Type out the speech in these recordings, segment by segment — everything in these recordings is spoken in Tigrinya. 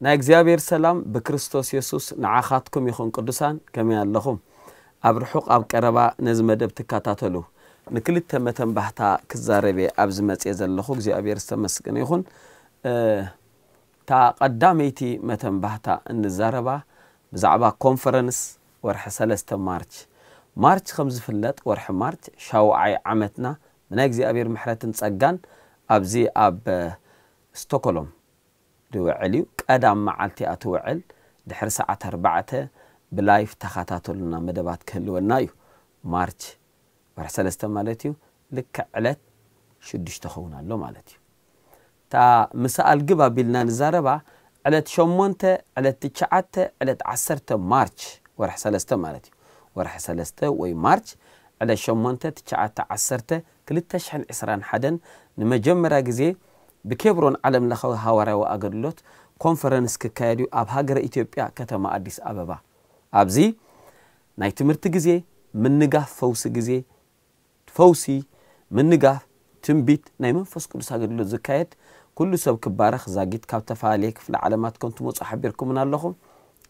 ናይ እግዚኣብሔር ሰላም ብክርስቶስ የሱስ ንዓኻትኩም ይኹን። ቅዱሳን፣ ከመይ ኣለኹም? ኣብ ርሑቕ ኣብ ቀረባ ነዚ መደብ ትከታተሉ፣ ንክልተ መተንባህታ ክዛረብ እየ ኣብዚ መጽየ ዘለኹ። እግዚኣብሔር ዝተመስገነ ይኹን። እታ ቀዳመይቲ መተንባህታ እንዛረባ ብዛዕባ ኮንፈረንስ ወርሒ ሰለስተ ማርች። ማርች ከም ዝፍለጥ፣ ወርሒ ማርች ሻውዓይ ዓመትና ብናይ እግዚኣብሔር ምሕረትን ጸጋን ኣብዚ ኣብ ስቶኮሎም ድውዕል እዩ። ቀዳም መዓልቲ እያ ትውዕል። ድሕሪ ሰዓት ኣርባዕተ ብላይፍ ተኸታተሉና፣ መደባት ክህልወና እዩ። ማርች ወርሒ ሰለስተ ማለት እዩ። ልክዕ ዕለት ሽዱሽተ ኸውን ኣሎ ማለት እዩ። እታ ምሳኣል ግብ ኣቢልና ንዛረባ ዕለት ሸሞንተ፣ ዕለት ትሽዓተ፣ ዕለት ዓሰርተ ማርች ወርሒ ሰለስተ ማለት እዩ። ወርሒ ሰለስተ ወይ ማርች ዕለት ሸሞንተ፣ ትሽዓተ፣ ዓሰርተ፣ ክልተ ሽሕን ዕስራን ሓደን ንመጀመርያ ግዜ ብኬብሮን ዓለም ለኻዊ ሃዋርያዊ ኣገልግሎት ኮንፈረንስ ክካየድ እዩ ኣብ ሃገረ ኢትዮጵያ ከተማ ኣዲስ ኣበባ። ኣብዚ ናይ ትምህርቲ ግዜ፣ ምንጋፍ ፈውሲ ግዜ፣ ፈውሲ፣ ምንጋፍ፣ ትንቢት፣ ናይ መንፈስ ቅዱስ ኣገልግሎት ዝካየድ፣ ኩሉ ሰብ ክባረኽ። ዛጊት ካብ ተፈላለየ ክፍለ ዓለማት ከም ትመጹ ሓቢርኩምና ኣለኹም።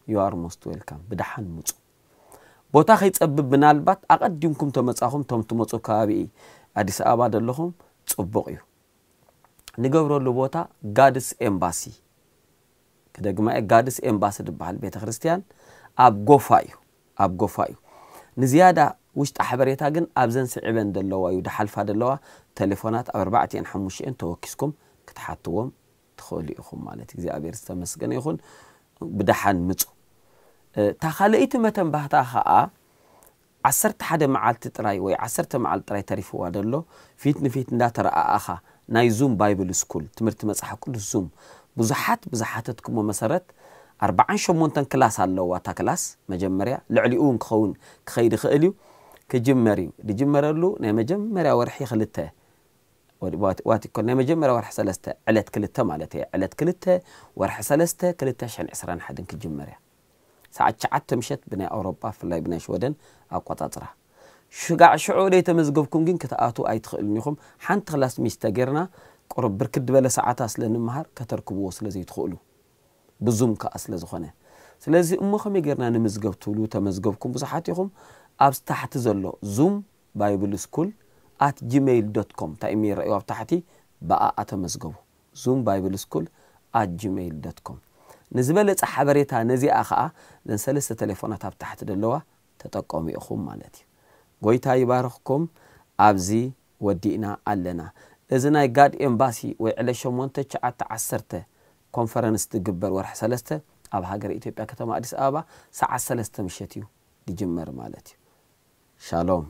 You are most welcome። ብደሓን ምጹ። ቦታ ከይጸብብ ምናልባት ኣቐዲምኩም ተመጻኹም፣ ቶም ትመጹ ከባቢ ኣዲስ ኣበባ ዘለኹም ጽቡቕ እዩ። ንገብረሉ ቦታ ጋድስ ኤምባሲ ክደግማ እየ፣ ጋድስ ኤምባሲ ዝበሃል ቤተ ክርስቲያን ኣብ ጎፋ እዩ፣ ኣብ ጎፋ እዩ። ንዝያዳ ውሽጢ ሓበሬታ ግን ኣብዘን ስዒበን ዘለዋ እዩ፣ ድሓልፋ ዘለዋ ቴሌፎናት ኣብ ኣርባዕቲኤን ሓሙሽኤን ተወኪስኩም ክትሓትዎም ትኽእሉ ኢኹም ማለት እዩ። እግዚኣብሔር ዝተመስገነ ይኹን። ብደሓን ምጹ። እታ ካልኣይቲ መተንባህታ ኸኣ ዓሰርተ ሓደ መዓልቲ ጥራይ ወይ ዓሰርተ መዓልቲ ጥራይ ተሪፍዋ ደሎ፣ ፊት ንፊት እንዳተረኣኣኻ ናይ ዙም ባይብል ስኩል፣ ትምህርቲ መጽሓፍ ቅዱስ ዙም፣ ብዙሓት ብዝሓተትኩሞ መሰረት ኣርባዓን ሸሞንተን ክላስ ኣለዋ። እታ ክላስ መጀመርያ ልዕሊኡ እውን ክኸውን ክኸይድ ይኽእል እዩ። ክጅመር እዩ። ዝጅመረሉ ናይ መጀመርያ ወርሒ ክልተ ወዲ-፣ ዋት-፣ ዋት ይኮን ናይ መጀመርያ ወርሒ ሰለስተ ዕለት ክልተ ማለት እየ። ዕለት ክልተ ወርሒ ሰለስተ ክልተ ሽሕን ዕስራን ሓደን ክጅመር እያ። ሰዓት ትሽዓተ ምሸት ብናይ ኣውሮፓ፣ ብፍላይ ብናይ ሽወደን ኣቆጻጽራ። ሽጋዕ ሽዑ ደይ ተመዝገብኩም ግን ክትኣትዉ ኣይትኽእሉን ኢኹም። ሓንቲ ክላስ ሚስ ተጌርና ቁሩብ ብርክት ዝበለ ሰዓታት ስለ ንምሃር ከተርክብዎ ስለ ዘይትኽእሉ፣ ብዙም ከኣ ስለ ዝኾነ። ስለዚ እሞ ከመይ ጌርና ንምዝገብ ትብሉ ተመዝገብኩም ብዙሓት ኢኹም። ኣብ ታሕቲ ዘሎ ዙም ባይብል ስኩል ኣት ጂሜይል ዶት ኮም፣ እንታይ ኢሜይል ረእዩ ኣብ ታሕቲ፣ ብኣኣ ተመዝገቡ። ዙም ባይብል ስኩል ኣት ጂሜይል ዶት ኮም። ንዝበለጸ ሓበሬታ ነዚኣ ኸኣ፣ ነን ሰለስተ ቴሌፎናት ኣብ ታሕቲ ዘለዋ ተጠቀሙ ኢኹም ማለት እዩ። ጎይታ ይባርኽኩም። ኣብዚ ወዲእና ኣለና። እዚ ናይ ጋድ ኤምባሲ ወይ ዕለት ሸሞንተ፣ ትሽዓተ፣ ዓሰርተ ኮንፈረንስ ዝግበር ወርሒ ሰለስተ ኣብ ሃገረ ኢትዮጵያ ከተማ ኣዲስ ኣበባ ሰዓት ሰለስተ ምሸት እዩ ዝጅመር ማለት እዩ። ሻሎም።